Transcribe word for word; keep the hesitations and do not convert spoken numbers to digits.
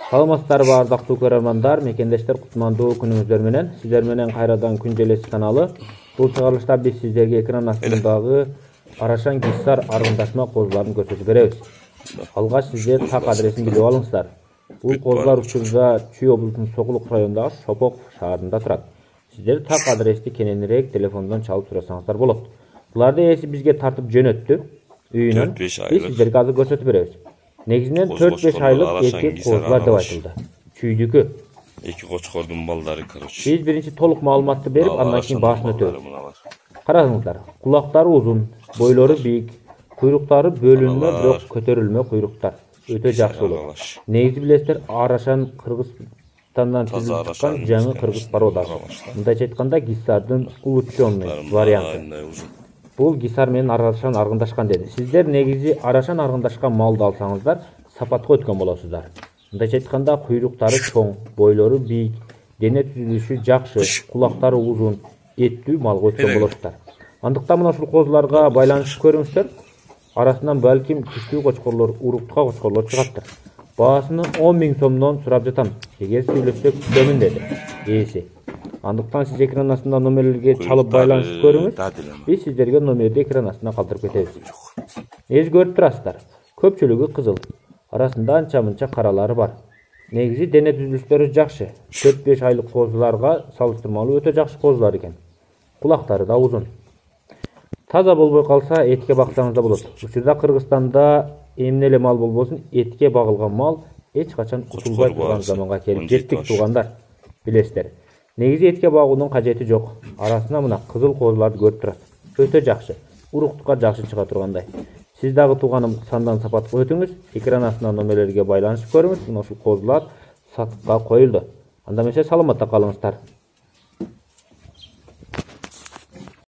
Саламатсыздарбы ардактуу көрөрмандар, мекендештер, кутмандуу күнүңүздөр менен. Сиздер менен кайрадан Күн Желеси каналы. Бул чыгарылышта биз сиздерге экран астындагы Арашан Киссар аргындашма козуларын көрсөтүп беребиз. Алгач сиздер так адресин билип алыңыздар. Бул козулар учурда Чүй облусунун Сокулук районундагы Шопок шаарында турат. Сиздер так адрести кененирээк телефондон чалып сурасаңыздар болот. Буларды ээси бизге тартып жөнөттү. Үйүнөн биз сиздерге азыр көрсөтүп беребиз. Негизинен төрт беш айлык эркек козулар деп айтылды. Чүйдүкү. Эки кочкордун балдары, короче. Биз биринчи толук маалыматты берип, андан кийин баасын өтөбүз. Караңыздар, кулактары узун, бойлору бийик, куйруктары бөлүнмө, бирок көтөрүлмө куйруктар. Өтө жакшы болот. Негизи билесиздер, Арашан Кыргызстандан түзүлүп чыккан жаңы кыргыз породасы. Мындайча айтканда, Киссардын улучшенный варианты. Бул Киссар менен Арашан аргындашкан деди. Сиздер негизи Арашан аргындашкан малды алсаңыздар, сапатка өткөн болосуздар. Мындайча айтканда, куйруктары чоң, бойлору бийик, дене түзүлүшү жакшы, кулактары узун, эттүү малга өткөн болосуздар. Андыктан мына ушул козуларга байланышып көрүңүздөр. Арасынан балким күчтүү кочкорлор, уруктка кочкорлор чыгаттыр. Баасыны он миң сомдон сурап жатам. Эгер сүйлөшсөк күтөмүн деди ээси. Андыктан сиз экран астында номерлерге чалып байланышып көрүңүз. Биз сиздерге номерди экран астына калтырып кетебиз. Эз көрүп турасыздар. Көпчүлүгү кызыл. Арасында анча-мынча каралары бар. Негизи дене түзүлүштөрү жакшы. төрт беш айлык козуларга салыштырмалуу өтө жакшы козулар экен. Кулактары да узун. Таза болбой калса, этке баксаңыз да болот. Учурда Кыргызстанда эмне эле мал болбосун, этке багылган мал эч качан утулбай турган заманга келип жеттик туугандар. Билесиздер. Негизи этке багуунун кажети жок. Арасына мына кызыл козуларды көрүп турасыз. Өтө жакшы. Уруктукка жакшы чыга тургандай. Сиз дагы тууганым сандан сапатка өтүңүз. Экран астына номерлерге байланышып көрүңүз. Мына ушул козулар сатыкка коюлду. Анда эмесе саламатта калыңыздар.